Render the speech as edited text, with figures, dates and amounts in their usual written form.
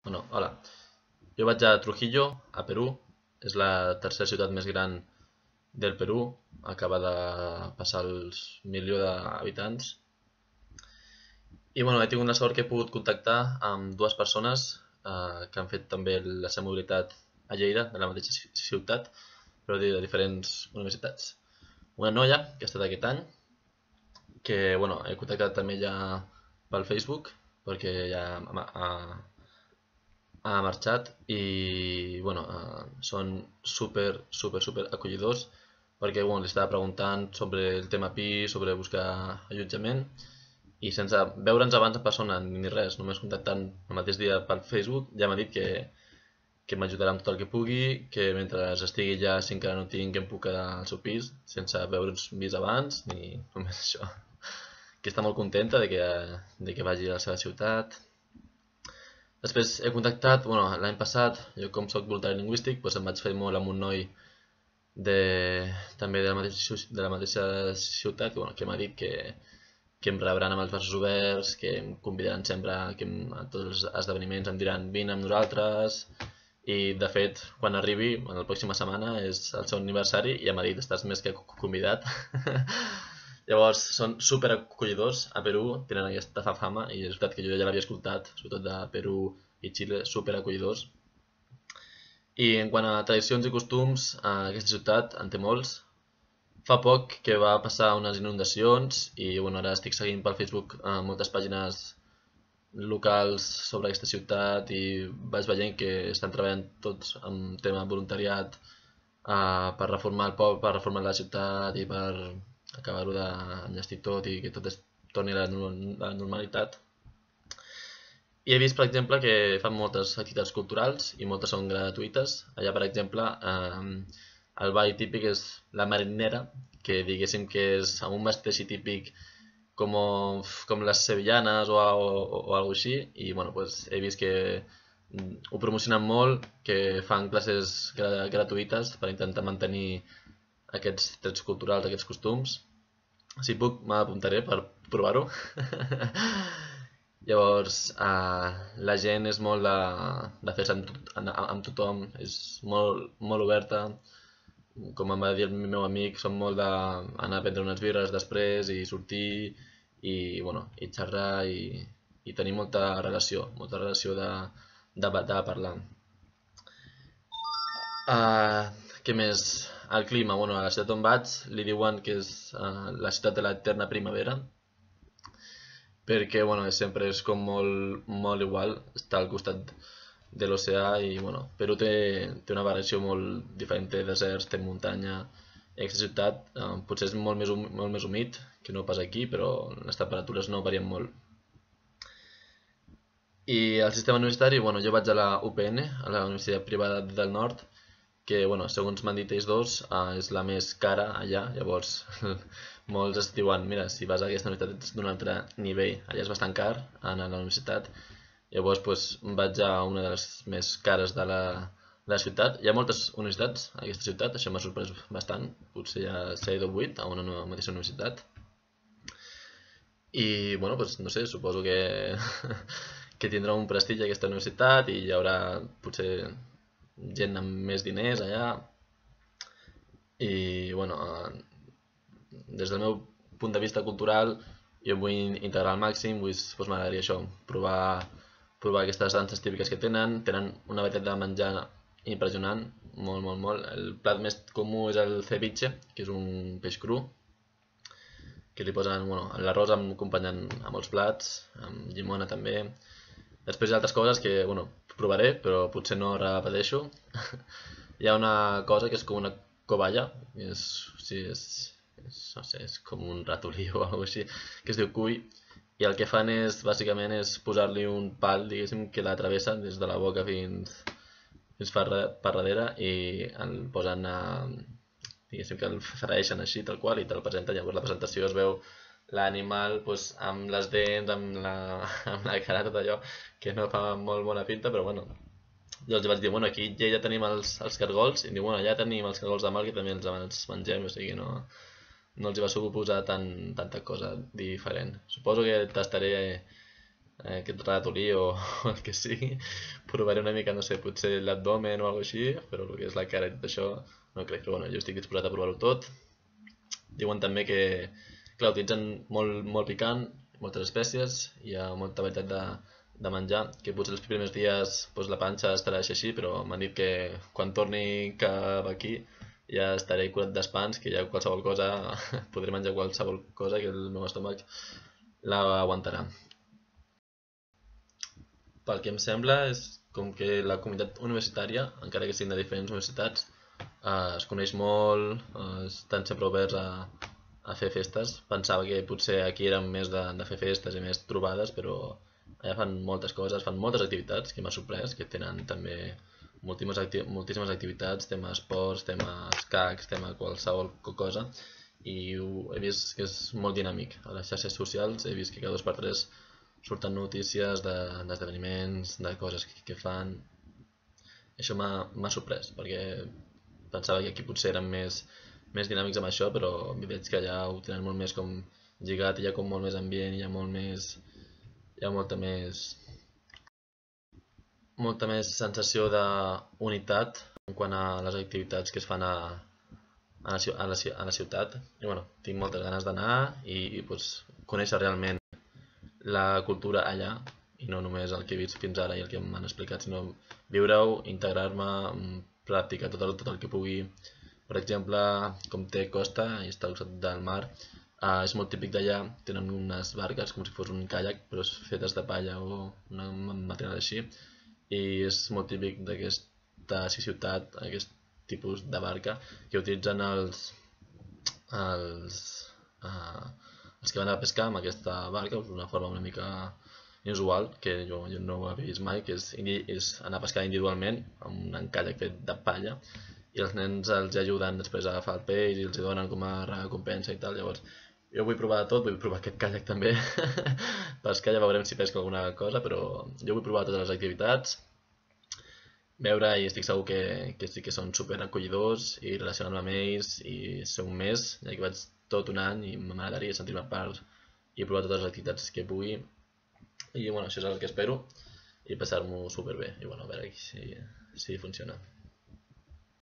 Bueno, hola. Jo vaig a Trujillo, a Perú. És la tercera ciutat més gran del Perú. Acaba de passar els milió d'habitants. I bueno, he tingut la sort que he pogut contactar amb dues persones que han fet també la seva mobilitat a Lleida, de la mateixa ciutat, però de diferents universitats. Una noia que ha estat aquest any, que bueno, he contactat també ja pel Facebook, perquè ja ha marxat i bueno, són super acollidors perquè bueno, li estava preguntant sobre el tema pis, sobre buscar allotjament i sense veure'ns abans en persona ni res, només contactant el mateix dia pel Facebook, ja m'ha dit que m'ajudarà amb tot el que pugui, que mentre estigui allà, si encara no tinc, em puc quedar al seu pis sense veure'ns vist abans ni només això, que està molt contenta de que vagi a la seva ciutat. Després he contactat, bueno, l'any passat, jo com soc voluntari lingüístic, doncs em vaig fer molt amb un noi de, també de la mateixa ciutat, que, bueno, que m'ha dit que em rebran amb els braços oberts, que em convidaran sempre a tots els esdeveniments, em diran vine amb nosaltres, i de fet, quan arribi, en la pròxima setmana, és el seu aniversari i ja m'ha dit estàs més que convidat. Llavors, són super acollidors. A Perú tenen aquesta fama i és veritat que jo ja l'havia escoltat, sobretot de Perú i Xile, super acollidors. I en quant a tradicions i costums, aquesta ciutat en té molts. Fa poc que va passar unes inundacions i bueno, ara estic seguint pel Facebook moltes pàgines locals sobre aquesta ciutat i vaig veient que estan treballant tots en tema voluntariat per reformar el poble, per reformar la ciutat i per acabar-ho d'enllestir tot i que tot es torni a la normalitat. I he vist, per exemple, que fan moltes activitats culturals i moltes són gratuïtes. Allà, per exemple, el ball típic és la marinera, que diguéssim que és amb un vestit així típic com les sevillanes o alguna així. I bueno, pues, he vist que ho promocionen molt, que fan classes gratuïtes per intentar mantenir aquests trets culturals, aquests costums. Si puc, m'apuntaré per provar-ho. Llavors, la gent és molt de fer-se amb tothom, és molt oberta. Com em va dir el meu amic, som molt d'anar a prendre unes birres després i sortir i, bueno, i xerrar i tenir molta relació de parlar. Què més? El clima, bueno, a la ciutat on vaig li diuen que és la ciutat de l'eterna primavera perquè bueno, sempre és com molt igual, està al costat de l'oceà i bueno, Perú té una variació molt diferent, té deserts, té muntanya i aquesta ciutat potser és molt més humit que no pas aquí, però les temperatures no varien molt. I el sistema universitari, bueno, jo vaig a la UPN, a la Universitat Privada del Nord, que bueno, segons m'han dit ells dos, és la més cara allà, llavors molts es diuen, mira, si vas a aquesta universitat ets d'un altre nivell, allà és bastant car anar a la universitat, llavors pues, vaig a una de les més cares de la ciutat. Hi ha moltes universitats a aquesta ciutat, això m'ha sorprès bastant, potser hi ha 7 o 8 a una mateixa universitat. I bueno, pues, no sé, suposo que, que tindrà un prestigi aquesta universitat i hi haurà potser gent amb més diners allà i bueno, des del meu punt de vista cultural jo vull integrar al màxim, doncs m'agradaria això, provar aquestes danses típiques que tenen una varietat de menjar impressionant, molt. El plat més comú és el ceviche, que és un peix cru que li posen, bueno, l'arròs acompanyant a molts plats, amb llimona també. Després hi ha altres coses que, bueno, provaré, però potser no repeteixo. Hi ha una cosa que és com una coballa, no sé, és com un ratolí o alguna cosa així, que es diu cuy, i el que fan bàsicament és posar-li un pal, diguéssim, que la travessa des de la boca fins per darrere i el posen diguéssim que el fereixen així tal qual i te'l presenten, llavors la presentació es veu l'animal doncs, amb les dents, amb la cara, tot allò que no fa molt bona pinta, però bueno, jo els vaig dir, bueno, aquí ja tenim els cargols, i diu, bueno, allà tenim els cargols de mar que també els mengem, o sigui, no els hi va suposar tanta cosa diferent. Suposo que tastaré aquest ratolí o el que sigui. Provaré una mica, no sé, potser l'abdomen o alguna així, però el que és la cara i tot això no crec. Però bueno, jo estic disposat a provar-ho tot. Diuen també que, clar, utilitzen molt picant, moltes espècies, hi ha molta varietat de menjar, que potser els primers dies doncs, la panxa estarà així, però m'han dit que quan torni cap aquí ja estaré curat d'espants, que ja qualsevol cosa, podré menjar qualsevol cosa que el meu estómac l'aguantarà. Pel que em sembla és com que la comunitat universitària, encara que siguin de diferents universitats, es coneix molt, estan sempre oberts a fer festes. Pensava que potser aquí eren més de fer festes i més trobades, però allà fan moltes coses, fan moltes activitats, que m'ha sorprès, que tenen també moltíssimes activitats, tema esports, tema escacs, tema qualsevol cosa, i he vist que és molt dinàmic. A les xarxes socials he vist que cada 2 per 3 surten notícies d'esdeveniments, de coses que fan. Això m'ha sorprès, perquè pensava que aquí potser eren més dinàmics amb això, però veig que allà ho tenen molt més com lligat, hi ha com molt més ambient, hi ha molta més sensació d'unitat en quant a les activitats que es fan a la ciutat. I bueno, tinc moltes ganes d'anar i pues, conèixer realment la cultura allà i no només el que he vist fins ara i el que m'han explicat, sinó viure-ho, integrar-me, practicar tot el que pugui. Per exemple, com té costa i està al costat del mar, és molt típic d'allà, tenen unes barques com si fos un caiac, però fetes de palla o un material així, i és molt típic d'aquesta ciutat, aquest tipus de barca que utilitzen els, uh, els que van a pescar amb aquesta barca, d'una forma una mica inusual, que jo no ho he vist mai, que és anar a pescar individualment amb un caiac fet de palla, i els nens els ajuden després a agafar el peix i els donen com a recompensa i tal. Llavors jo vull provar de tot, vull provar aquest caiac també. Pescar ja veurem si pesco alguna cosa, però jo vull provar totes les activitats, veure, i estic segur que sí que són super acollidors, i relacionar-me amb ells i ser un mes, ja que vaig tot un any i m'agradaria sentir-me part i provar totes les activitats que pugui. I bueno, això és el que espero, i passar-m'ho super bé, i bueno, a veure si funciona.